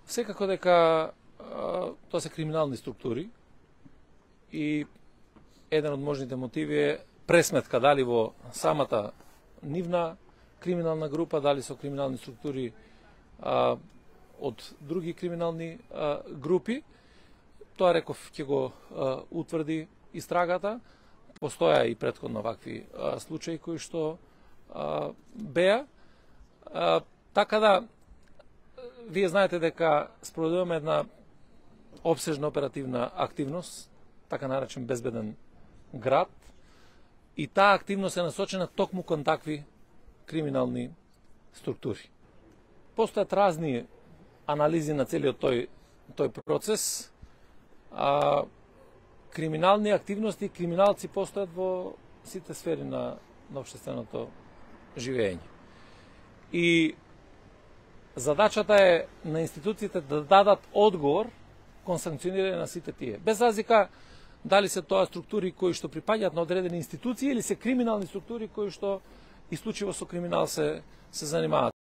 Секако дека тоа се криминални структури и еден од можните мотиви е пресметка дали во самата нивна криминална група, дали со криминални структури од други криминални групи. Тоа реков ќе го утврди истрагата. Постоја и претходно вакви случаи кои што беа. Така да, вие знаете дека спроведуваме една обсежна оперативна активност, така наречен безбеден град, и таа активност е насочена токму кон такви криминални структури. Постојат разни анализи на целиот тој процес. Криминални активности, криминалци постојат во сите сфери на општественото живење. И задачата е на институциите да дадат одговор кон санкционирање на сите тие. Без разлика дали се тоа структури кои што припаѓаат на одредени институции или се криминални структури кои што исклучиво со криминал се занимаваат.